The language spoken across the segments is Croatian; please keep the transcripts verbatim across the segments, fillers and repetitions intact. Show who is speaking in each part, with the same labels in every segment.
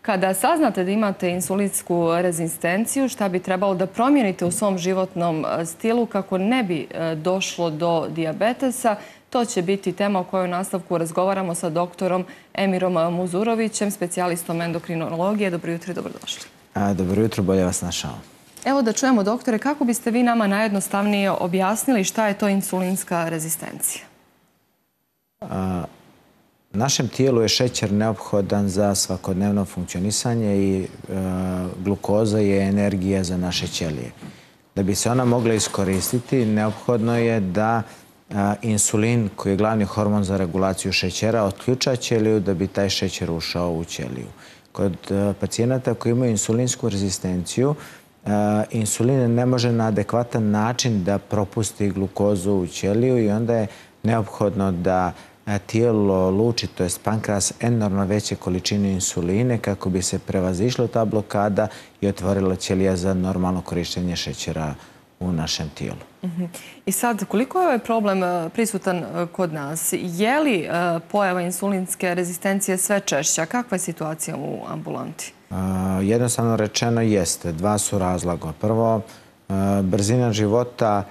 Speaker 1: Kada saznate da imate insulinsku rezistenciju, šta bi trebalo da promijenite u svom životnom stilu kako ne bi došlo do dijabetesa, to će biti tema o kojoj u nastavku razgovaramo sa doktorom Emirom Muzurovićem, specijalistom endokrinologije. Dobro jutro i dobrodošli.
Speaker 2: Dobro jutro, bolje vas našao.
Speaker 1: Evo da čujemo, doktore, kako biste vi nama najjednostavnije objasnili šta je to insulinska rezistencija?
Speaker 2: Našem tijelu je šećer neophodan za svakodnevno funkcionisanje i glukoza je energija za naše ćelije. Da bi se ona mogla iskoristiti, neophodno je da insulin, koji je glavni hormon za regulaciju šećera, otključa ćeliju da bi taj šećer ušao u ćeliju. Kod pacijenata koji imaju insulinsku rezistenciju, insulin ne može na adekvatan način da propusti glukozu u ćeliju i onda je neophodno da tijelo luči, to je pankreas, enormno veće količine insuline kako bi se prevazišla ta blokada i otvorila ćelija za normalno korištenje šećera u našem tijelu.
Speaker 1: I sad, koliko je ovaj problem prisutan kod nas? Je li pojava insulinske rezistencije sve češća? Kakva je situacija u ambulanti?
Speaker 2: Jednostavno rečeno jeste. Dva su razloga. Prvo, brzina života,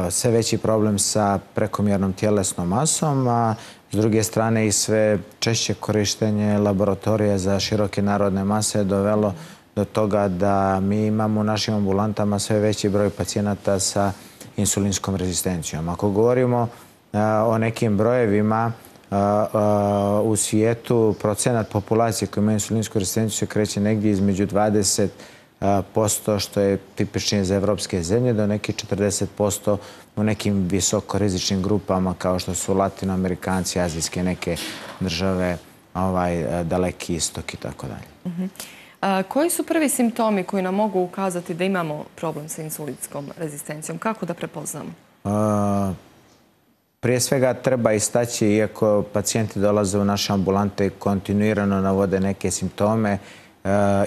Speaker 2: sve veći problem sa prekomjernom tjelesnom masom, a s druge strane i sve češće korištenje laboratorija za široke narodne mase je dovelo do toga da mi imamo u našim ambulantama sve veći broj pacijenata sa insulinskom rezistencijom. Ako govorimo o nekim brojevima, u svijetu procenat populacije koja ima insulinsku rezistenciju se kreće negdje između dvadeset posto, što je tipičnije za evropske zemlje, do nekih četrdeset posto u nekim visokorizičnim grupama kao što su latinoamerikanci, azijske neke države, Daleki istok i tako dalje.
Speaker 1: Koji su prvi simptomi koji nam mogu ukazati da imamo problem sa insulinskom rezistencijom? Kako da prepoznamo?
Speaker 2: Prije svega treba istaći, iako pacijenti dolaze u naše ambulante i kontinuirano navode neke simptome,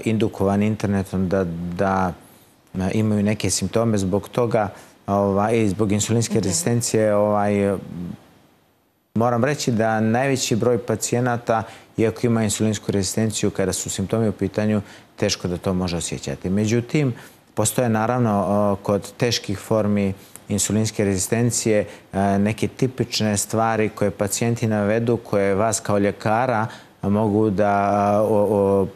Speaker 2: indukovani internetom da imaju neke simptome zbog toga i zbog insulinske rezistencije, moram reći da najveći broj pacijenata, iako ima insulinsku rezistenciju, kada su simptomi u pitanju, teško da to može osjećati. Međutim, postoje naravno kod teških formi insulinske rezistencije neke tipične stvari koje pacijenti navedu, koje vas kao ljekara mogu da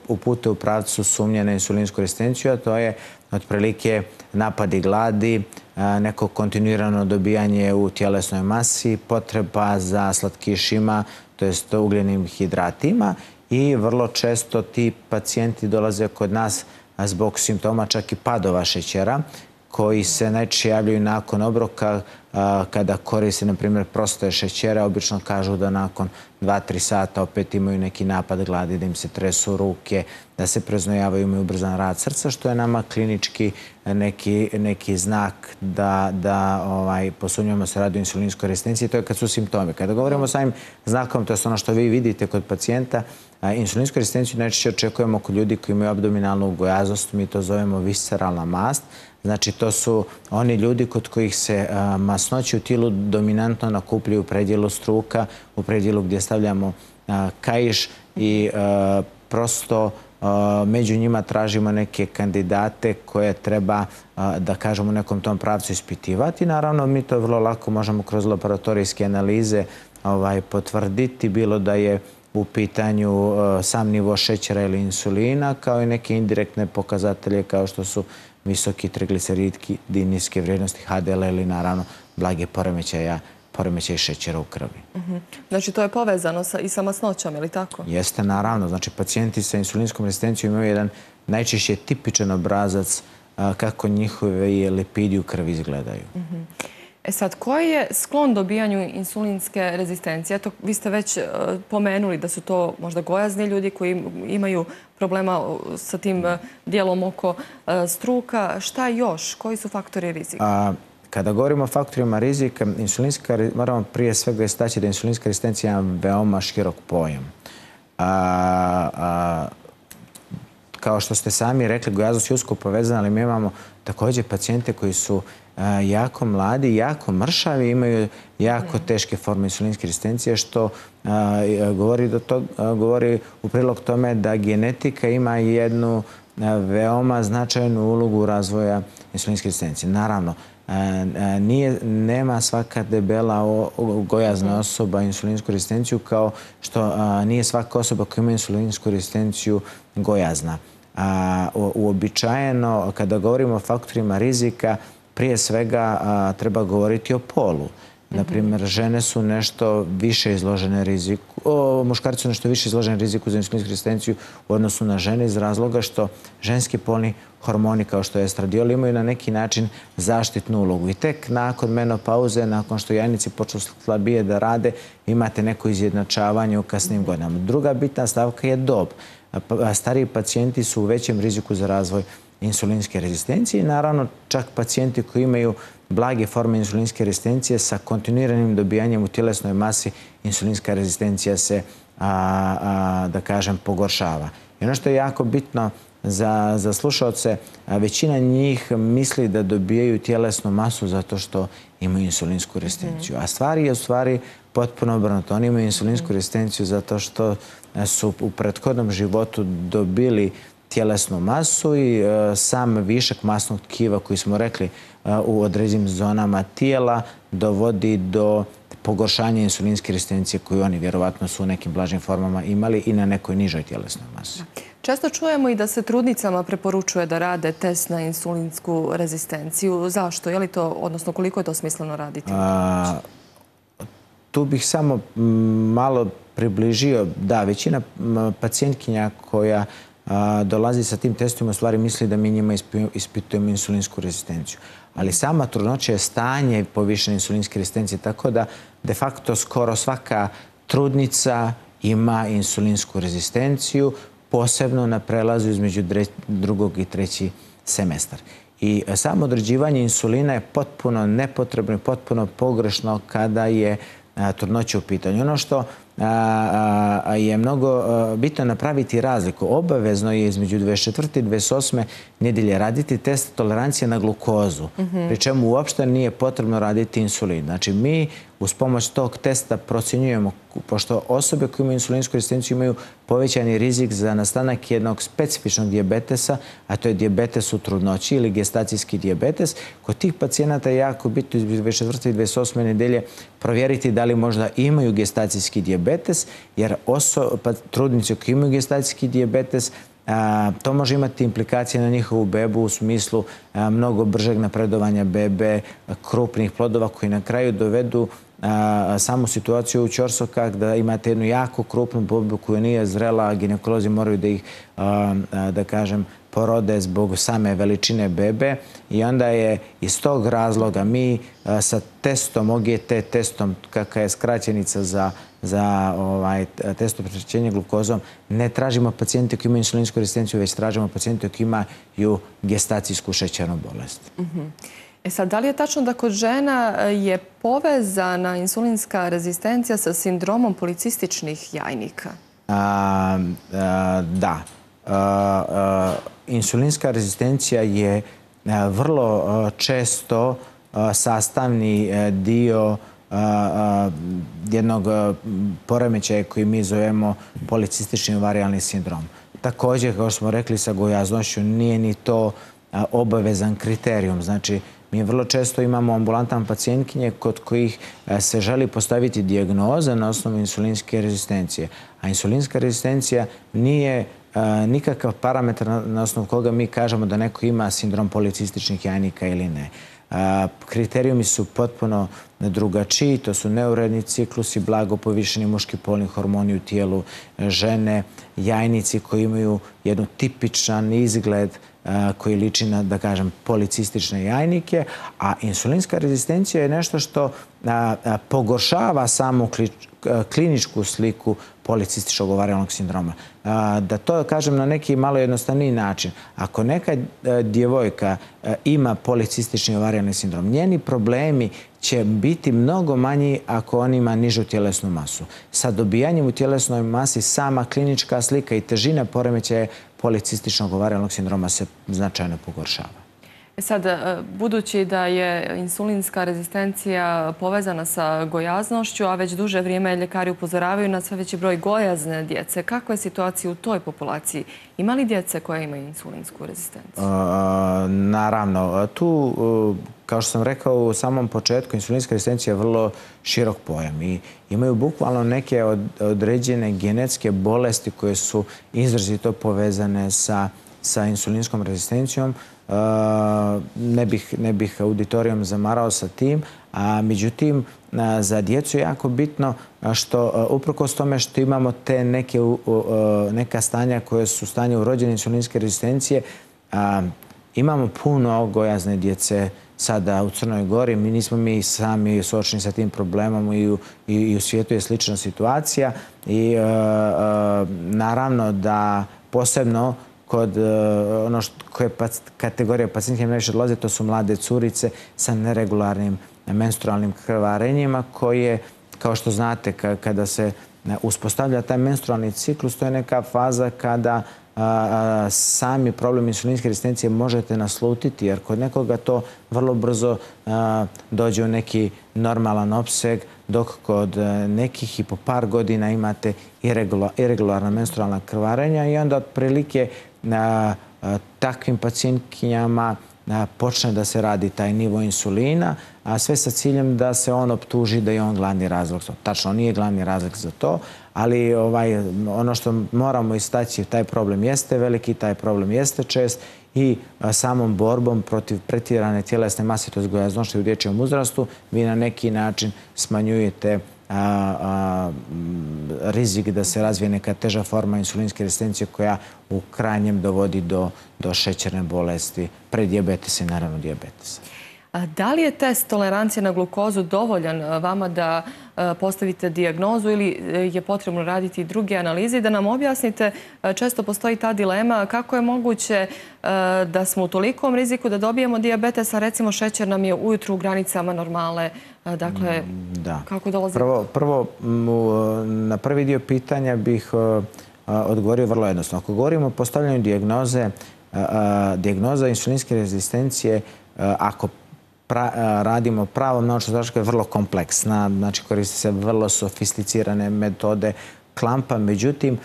Speaker 2: upute u pravcu sumnje na insulinsku rezistenciju, a to je otprilike napadi gladi, neko kontinuirano dobijanje u tjelesnoj masi, potreba za slatkišima, to jest ugljenim hidratima, i vrlo često ti pacijenti dolaze kod nas zbog simptoma čak i padova šećera, koji se najčešće javljaju nakon obroka kada koriste, na primjer, prostoje šećera. Obično kažu da nakon dva do tri sata opet imaju neki napad gladi, da im se tresu ruke, da se preznojavaju, imaju ubrzan rad srca, što je nama klinički neki znak da posumnjamo se radi o insulinskoj rezistenciji. To je kad su simptomi. Kada govorimo o samim znakom, to je ono što vi vidite kod pacijenta, insulinsku rezistenciju najčešće očekujemo kod ljudi koji imaju abdominalnu gojaznost, mi to zovemo visceralna mast. Znači, to su oni ljudi kod kojih se masnoće u tijelu dominantno nakupljaju u predjelu struka, u predjelu gdje stavljamo kaiš i prosto među njima tražimo neke kandidate koje treba, da kažemo, u nekom tom pravcu ispitivati. Naravno, mi to vrlo lako možemo kroz laboratorijske analize potvrditi, bilo da je u pitanju sam nivo šećera ili insulina, kao i neke indirektne pokazatelje kao što su visoki trigliceridki, niske vrijednosti H D L ili naravno blage poremećaja poremećaj šećera u krvi.
Speaker 1: Znači, to je povezano i sa masnoćom, ili tako?
Speaker 2: Jeste, naravno. Znači, pacijenti sa insulinskom rezistencijom imaju jedan najčešće tipičan obrazac kako njihovi lipidi u krvi izgledaju.
Speaker 1: E sad, koji je sklon dobijanju insulinske rezistencije? Eto, vi ste već pomenuli da su to možda gojazni ljudi koji imaju problema sa tim dijelom oko struka. Šta još? Koji su faktori rizika?
Speaker 2: Kada govorimo o faktorima rizika, moramo prije svega istaći da je insulinska rezistencija veoma širok pojam. kao što ste sami rekli, gojaznost je usko povezana, ali mi imamo također pacijente koji su jako mladi, jako mršavi, imaju jako teške forme insulinske rezistencije, što govori, do tog, govori u prilog tome da genetika ima jednu veoma značajnu ulogu razvoja insulinske rezistencije. Naravno, nije, nema svaka debela gojazna osoba insulinsku rezistenciju, kao što nije svaka osoba koja ima insulinsku rezistenciju gojazna. Uobičajeno, kada govorimo o faktorima rizika, prije svega treba govoriti o polu. Naprimjer, žene su nešto više izložene riziku, muškarci su nešto više izloženi riziku za insulinsku rezistenciju u odnosu na žene iz razloga što ženski polni hormoni kao što je estradiol imaju na neki način zaštitnu ulogu. I tek nakon menopauze, nakon što jajnici počnu slabije da rade, imate neko izjednačavanje u kasnim godinama. Druga bitna stavka je dob. Stariji pacijenti su u većem riziku za razvoj insulinske rezistencije i naravno čak pacijenti koji imaju blage forme insulinske rezistencije sa kontinuiranim dobijanjem u tjelesnoj masi insulinska rezistencija se, a, a, da kažem, pogoršava. I ono što je jako bitno za, za slušalce, većina njih misli da dobijaju tjelesnu masu zato što imaju insulinsku rezistenciju. A stvari je u stvari potpuno obrnuto. Oni imaju insulinsku rezistenciju zato što su u prethodnom životu dobili tjelesnu masu i sam višak masnog tkiva koji smo rekli u određenim zonama tijela dovodi do pogoršanja insulinske rezistencije koju oni vjerovatno su u nekim blažim formama imali i na nekoj nižoj tjelesnoj masi.
Speaker 1: Često čujemo i da se trudnicama preporučuje da rade test na insulinsku rezistenciju. Zašto? Je li to, odnosno koliko je to smisleno raditi?
Speaker 2: A, tu bih samo malo približio. Da, većina pacijentkinja koja dolazi sa tim testovima, u stvari misli da mi njima ispitujemo insulinsku rezistenciju. Ali sama trudnoća je stanje povišene insulinske rezistencije, tako da de facto skoro svaka trudnica ima insulinsku rezistenciju, posebno na prelazu između drugog i treći semestar. I samo određivanje insulina je potpuno nepotrebno i potpuno pogrešno kada je trudnoća u pitanju. Ono što je mnogo bitno napraviti razliku. Obavezno je između dvadeset četvrte i dvadeset osme nedjelje raditi test tolerancije na glukozu, pri čemu uopšte nije potrebno raditi insulin. Znači, mi uz pomoć tog testa procjenjujemo, pošto osobe koje imaju insulinsku rezistenciju imaju povećani rizik za nastanak jednog specifičnog dijabetesa, a to je dijabetes u trudnoći ili gestacijski dijabetes. Kod tih pacijenata je jako bitno između dvadeset četvrte i dvadeset osme nedelje provjeriti da li možda imaju gestacijski dijabetes, jer pa, trudnice koje imaju gestacijski dijabetes, a, to može imati implikacije na njihovu bebu u smislu a, mnogo bržeg napredovanja bebe, krupnih plodova koji na kraju dovedu a, samu situaciju u ćorsokak da imate jednu jako krupnu bebu koja nije zrela, a ginekolozi moraju da ih, a, a, da kažem, porode zbog same veličine bebe i onda je iz tog razloga mi a, sa testom, O G T testom, kakva je skraćenica za, za ovaj, testo prečišćenja glukozom, ne tražimo pacijente koji imaju insulinsku rezistenciju, već tražimo pacijente koji imaju gestacijsku šećernu bolest.
Speaker 1: Mm-hmm. E sad, da li je tačno da kod žena je povezana insulinska rezistencija sa sindromom policističnih jajnika?
Speaker 2: A, a, da. A, a, insulinska rezistencija je a, vrlo a, često a, sastavni a, dio a, a, jednog a, poremećaja koji mi zovemo policistični ovarijalni sindrom. Također, kao smo rekli, sa gojaznošću nije ni to a, obavezan kriterijum. Znači, mi vrlo često imamo ambulantan pacijentkinje kod kojih se želi postaviti dijagnoza na osnovu insulinske rezistencije. A insulinska rezistencija nije nikakav parametar na osnovu koga mi kažemo da neko ima sindrom policističnih jajnika ili ne. Kriterijumi su potpuno drugačiji, to su neuredni ciklusi, blago povišeni muški polni hormoni u tijelu žene, jajnici koji imaju jednu tipičan izgled koji liči na, da kažem, policistične jajnike, a insulinska rezistencija je nešto što pogoršava samu kliničku sliku policističnog ovarijalnog sindroma. Da to kažem na neki malo jednostavniji način. Ako neka djevojka ima policistični ovarijalni sindrom, njeni problemi će biti mnogo manji ako on ima nižu tjelesnu masu. Sa dobijanjem u tjelesnoj masi sama klinička slika i težina poremećaja policističnog ovarijalnog sindroma se značajno pogoršava.
Speaker 1: Sad, budući da je insulinska rezistencija povezana sa gojaznošću, a već duže vrijeme ljekari upozoravaju na sve veći broj gojazne djece, kakva je situacija u toj populaciji? Ima li djece koja imaju insulinsku rezistenciju?
Speaker 2: Naravno. Tu, kao što sam rekao u samom početku, insulinska rezistencija je vrlo širok pojam i imaju bukvalno neke određene genetske bolesti koje su izrazito povezane sa, sa insulinskom rezistencijom. Ne bih, ne bih auditorijom zamarao sa tim, a međutim za djecu je jako bitno što uprkos tome što imamo te neke, neka stanja koje su stanje urođene insulinske rezistencije, imamo puno gojazne djece sada u Crnoj Gori. Mi nismo mi sami suočeni sa tim problemom i u, i u svijetu je slična situacija i naravno da posebno kod ono što, koje kategorije pacijentke najviše odlaze, to su mlade curice sa neregularnim menstrualnim krvarenjima koje, kao što znate, kada se uspostavlja taj menstrualni ciklus, to je neka faza kada sami problem insulinske rezistencije možete naslutiti, jer kod nekoga to vrlo brzo dođe u neki normalan opseg, dok kod nekih i po par godina imate irregularna menstrualna krvarenja i onda otprilike na takvim pacijentkinjama počne da se radi taj nivo insulina, a sve sa ciljem da se on optuži da je on glavni razlog. Tačno, on nije glavni razlog za to, ali ovaj, ono što moramo istaći, taj problem jeste veliki, taj problem jeste čest i samom borbom protiv pretjerane tjelesne mase, to je gojaznošće u dječjem uzrastu, vi na neki način smanjujete A, a, rizik da se razvije neka teža forma insulinske rezistencije koja u krajnjem dovodi do, do šećerne bolesti, predijabetesa i naravno dijabetesa.
Speaker 1: A da li je test tolerancije na glukozu dovoljan vama da postavite dijagnozu ili je potrebno raditi druge analize? Da nam objasnite, često postoji ta dilema kako je moguće da smo u tolikom riziku da dobijemo dijabetes, a recimo šećer nam je ujutru u granicama normale. Dakle,
Speaker 2: da.
Speaker 1: Kako dolazi?
Speaker 2: Prvo, prvo, na prvi dio pitanja bih odgovorio vrlo jednostavno. Ako govorimo o postavljanju dijagnoze, dijagnoza insulinske rezistencije, ako pra, radimo pravom naučnom zaštitom, je vrlo kompleksna, znači koriste se vrlo sofisticirane metode klampa, međutim,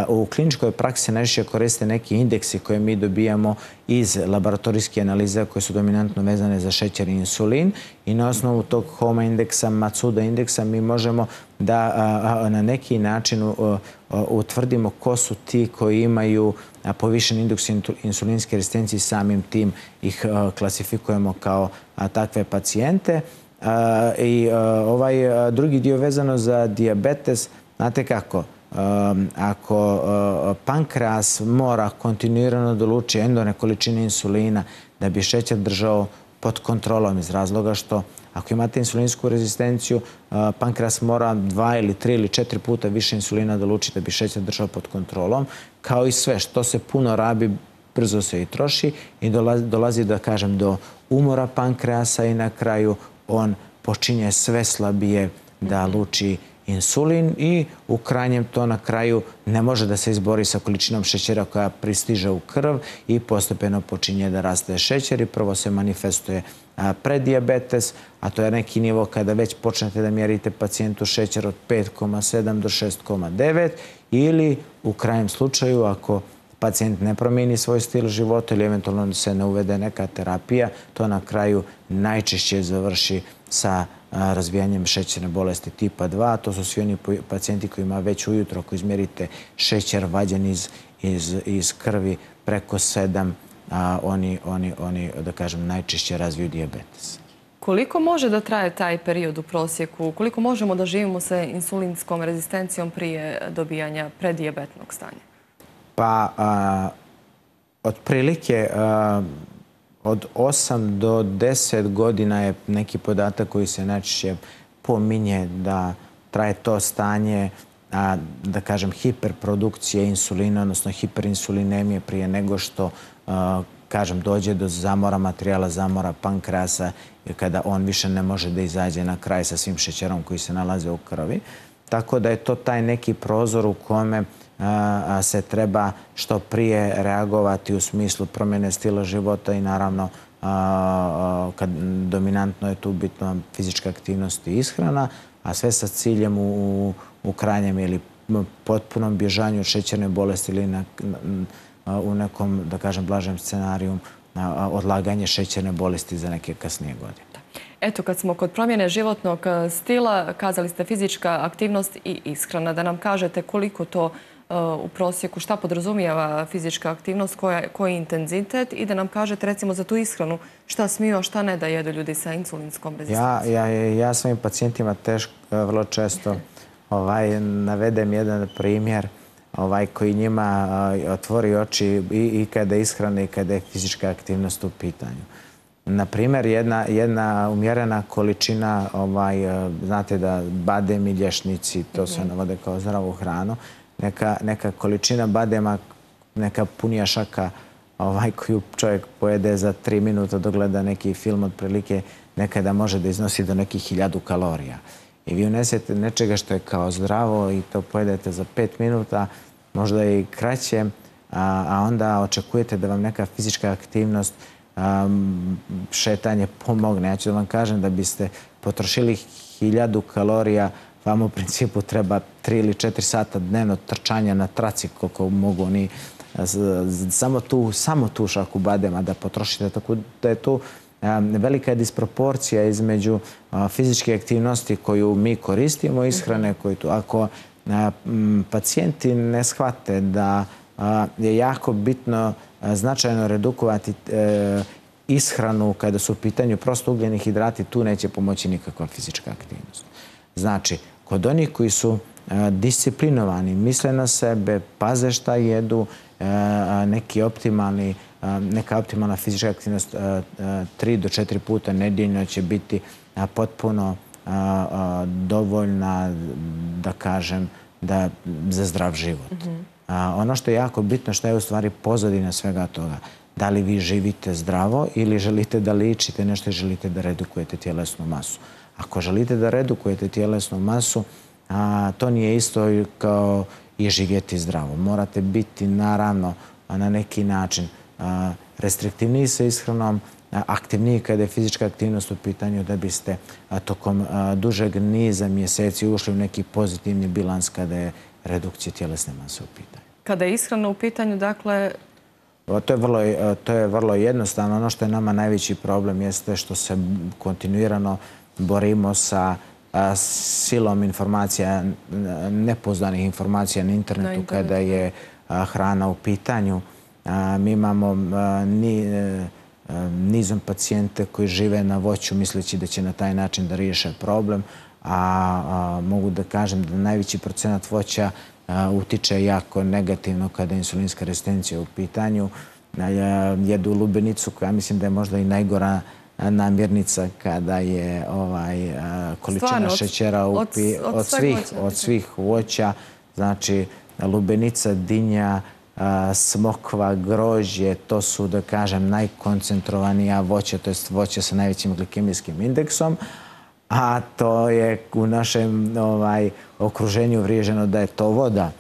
Speaker 2: u kliničkoj praksi najviše koriste neki indeksi koje mi dobijamo iz laboratorijske analize koje su dominantno vezane za šećer i insulin i na osnovu tog Homa indeksa, Matsuda indeksa mi možemo da na neki način utvrdimo ko su ti koji imaju povišen indeks insulinske rezistencije, samim tim ih klasifikujemo kao takve pacijente. I ovaj drugi dio vezano za dijabetes, znate kako, ako pankreas mora kontinuirano da luči enormne količine insulina da bi šećer držao pod kontrolom iz razloga što ako imate insulinsku rezistenciju, pankreas mora dva ili tri ili četiri puta više insulina da luči da bi šećer držao pod kontrolom. Kao i sve što se puno rabi, brzo se i troši i dolazi, da kažem, do umora pankreasa i na kraju on počinje sve slabije da luči insulin i u krajnjem to na kraju ne može da se izbori sa količinom šećera koja pristiže u krv i postepeno počinje da raste šećer i prvo se manifestuje preddijabetes, a to je neki nivo kada već počnete da mjerite pacijentu šećer od pet zarez sedam do šest zarez devet ili u krajnjem slučaju ako pacijent ne promijeni svoj stil života ili eventualno se ne uvede neka terapija, to na kraju najčešće završi sa razvijanjem šećerne bolesti tipa dva. To su svi oni pacijenti koji ima već ujutro, ako izmjerite šećer vađen iz, iz, iz krvi preko sedam, a oni, oni, oni, da kažem, najčešće razviju dijabetes.
Speaker 1: Koliko može da traje taj period u prosjeku? Koliko možemo da živimo sa insulinskom rezistencijom prije dobijanja predijabetnog stanja?
Speaker 2: Pa, a, otprilike a, od osam do deset godina je neki podatak koji se najčešće pominje da traje to stanje, a, da kažem, hiperprodukcije insulina, odnosno hiperinsulinemije prije nego što a, kažem, dođe do zamora materijala, zamora pankreasa, kada on više ne može da izađe na kraj sa svim šećerom koji se nalaze u krvi. Tako da je to taj neki prozor u kome se treba što prije reagovati u smislu promjene stila života i naravno kad dominantno je tu bitno fizička aktivnost i ishrana, a sve sa ciljem u, u krajnjem ili potpunom bježanju od šećerne bolesti ili na, u nekom, da kažem, blažem scenariju odlaganje šećerne bolesti za neke kasnije godine.
Speaker 1: Eto, kad smo kod promjene životnog stila, kazali ste fizička aktivnost i ishrana. Da nam kažete koliko to u prosjeku, šta podrazumijeva fizička aktivnost, koja, koji je intenzitet i da nam kažete recimo za tu ishranu šta smiju, a šta ne da jedu ljudi sa insulinskom rezistencijom.
Speaker 2: Ja, ja, ja svojim pacijentima teško, vrlo često ovaj, navedem jedan primjer ovaj, koji njima uh, otvori oči i, i kada je ishrana i kada je fizička aktivnost u pitanju. Na primjer, jedna, jedna umjerena količina, ovaj, uh, znate da badem i lješnici, to se navode kao zdravu hranu, neka, neka količina badema, neka punija šaka ovaj, koju čovjek pojede za tri minuta dok gleda neki film otprilike, nekada može da iznosi do nekih hiljadu kalorija. I vi unesete nečega što je kao zdravo i to pojedete za pet minuta, možda i kraće, a, a onda očekujete da vam neka fizička aktivnost, a, šetanje pomogne. Ja ću da vam kažem da biste potrošili hiljadu kalorija, vam u principu treba tri ili četiri sata dnevno trčanja na traci koliko mogu oni samo tu, samo tu šaku badema da potrošite. Tako da je tu velika je disproporcija između fizičke aktivnosti koju mi koristimo i ishrane koju tu. Ako pacijenti ne shvate da je jako bitno značajno redukovati ishranu kada su u pitanju prosto ugljeni hidrati, tu neće pomoći nikakva fizička aktivnost. Znači, kod onih koji su disciplinovani, misle na sebe, paze šta jedu, neki optimalni neka optimalna fizička aktivnost tri do četiri puta nedeljno će biti potpuno dovoljna, da kažem, da, za zdrav život. Mm-hmm. Ono što je jako bitno, što je u stvari pozadina svega toga. Da li vi živite zdravo ili želite da ličite nešto i želite da redukujete tjelesnu masu. Ako želite da redukujete tjelesnu masu, a, to nije isto kao i živjeti zdravo. Morate biti, naravno, na neki način restriktivniji sa ishranom, aktivniji kada je fizička aktivnost u pitanju da biste tokom dužeg niza mjeseci ušli u neki pozitivni bilans kada je redukcija tjelesne mase u pitanju.
Speaker 1: Kada je ishrana u pitanju, dakle...
Speaker 2: To je vrlo, to je vrlo jednostavno. Ono što je nama najveći problem jeste što se kontinuirano borimo sa silom informacija, nepouzdanih informacija na internetu, na internetu kada je hrana u pitanju. Mi imamo nizom pacijente koji žive na voću misleći da će na taj način da riješe problem, a mogu da kažem da najveći procenat voća utiče jako negativno kada je insulinska rezistencija u pitanju. Jedu lubenicu koja mislim da je možda i najgora namirnica kada je ovaj, količina Stvarno, šećera u pi... od, od, od, svih, od svih voća. Znači, lubenica, dinja, smokva, grožđe, to su, da kažem, najkoncentrovanija voća, to je voće sa najvećim glikemijskim indeksom, a to je u našem ovaj, okruženju vriježeno da je to voda.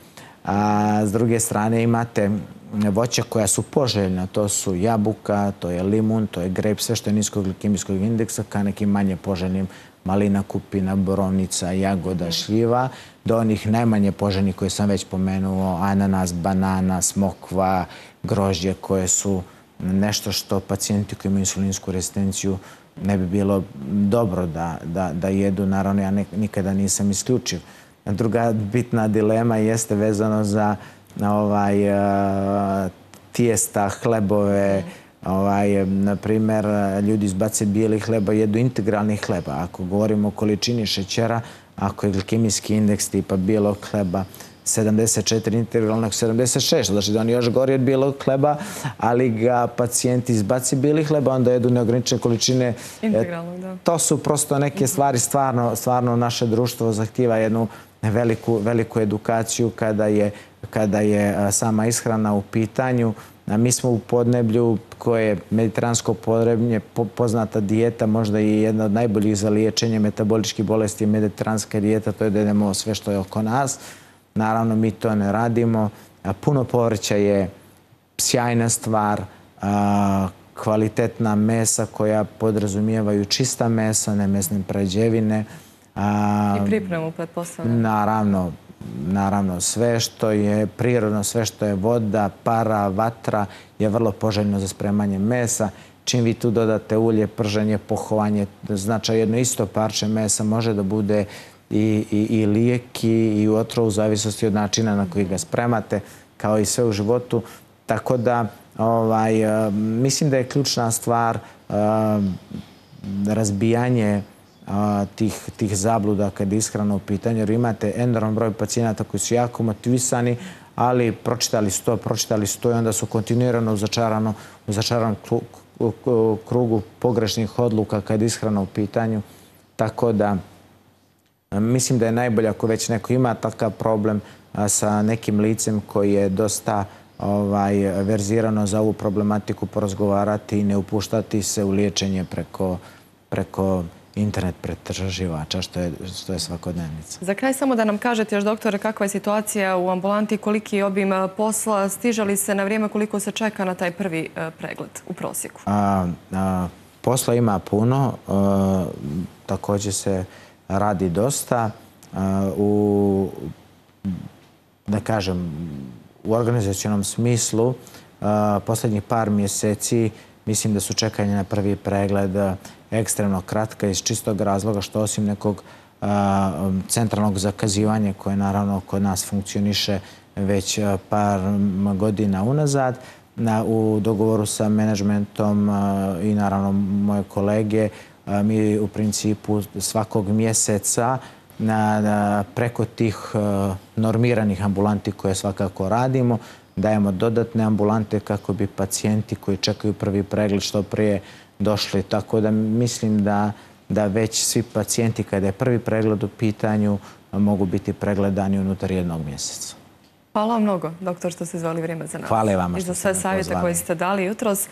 Speaker 2: A s druge strane imate voća koja su poželjna, to su jabuka, to je limun, to je grejp, sve što je niskog glikemijskog indeksa, ka nekim manje poželjnim malina, kupina, borovnica, jagoda, šljiva, do onih najmanje poželjnih koje sam već pomenuo, ananas, banana, smokva, grožđe, koje su nešto što pacijenti koji imaju insulinsku rezistenciju ne bi bilo dobro da, da, da jedu. Naravno, ja ne, nikada nisam isključiv. Druga bitna dilema jeste vezano za ovaj, tijesta, hlebove. Ovaj, na primjer, ljudi izbace bijeli hleba, jedu integralni hleba. Ako govorimo o količini šećera, ako je glikemijski indeks tipa bijelog hleba sedamdeset četiri, integralnog sedamdeset šest, znači da on još gori od bijelog hleba, ali ga pacijenti izbaci bijeli hleba, onda jedu neograničene količine.
Speaker 1: Integralnog, da.
Speaker 2: To su prosto neke stvari, stvarno, stvarno naše društvo zahtijeva jednu veliku, veliku edukaciju kada je, kada je sama ishrana u pitanju. Mi smo u podneblju koje je mediteransko podneblje, poznata dijeta, možda i jedna od najboljih za liječenje metaboličkih bolesti je mediteranska dijeta, to je da jedemo sve što je oko nas. Naravno, mi to ne radimo. Puno povrća je sjajna stvar, kvalitetna mesa koja podrazumijevaju čista mesa, ne mesne prerađevine.
Speaker 1: I pripremu, pretpostavljam.
Speaker 2: Naravno, naravno, sve što je prirodno, sve što je voda, para, vatra je vrlo poželjno za spremanje mesa. Čim vi tu dodate ulje, prženje, pohovanje, znači jedno isto parče mesa može da bude i, i, i lijek i otrov u zavisnosti od načina na koji ga spremate, kao i sve u životu. Tako da, ovaj, mislim da je ključna stvar razbijanje Tih, tih zabluda kad je ishrana u pitanju, jer imate enorman broj pacijenata koji su jako motivisani, ali pročitali su to, pročitali su to i onda su kontinuirano u začaranom, u začaranom krugu pogrešnih odluka kad je ishrana u pitanju. Tako da mislim da je najbolje ako već neko ima takav problem sa nekim licem koji je dosta ovaj, verzirano za ovu problematiku porazgovarati i ne upuštati se u liječenje preko, preko internet pretraživača, što je, što je svakodnevnica.
Speaker 1: Za kraj samo da nam kažete još, doktore, kakva je situacija u ambulanti, koliki je obim posla, stiže li se na vrijeme, koliko se čeka na taj prvi pregled u prosjeku?
Speaker 2: A, a, posla ima puno, a, također se radi dosta. A, u, da kažem, u organizacionom smislu a, posljednjih par mjeseci mislim da su čekanje na prvi pregled ekstremno kratka iz čistog razloga što osim nekog a, centralnog zakazivanja koje naravno kod nas funkcioniše već par godina unazad, na, u dogovoru sa menadžmentom a, i naravno moje kolege, a, mi u principu svakog mjeseca na, na, preko tih a, normiranih ambulanti koje svakako radimo, dajemo dodatne ambulante kako bi pacijenti koji čekaju prvi pregled što prije došli. Tako da mislim da, da već svi pacijenti kada je prvi pregled u pitanju mogu biti pregledani unutar jednog mjeseca.
Speaker 1: Hvala vam mnogo, doktor, što ste izvali vrijeme za nas.
Speaker 2: Hvala vama
Speaker 1: što ste me pozvali. I za sve savjete koje ste dali jutros.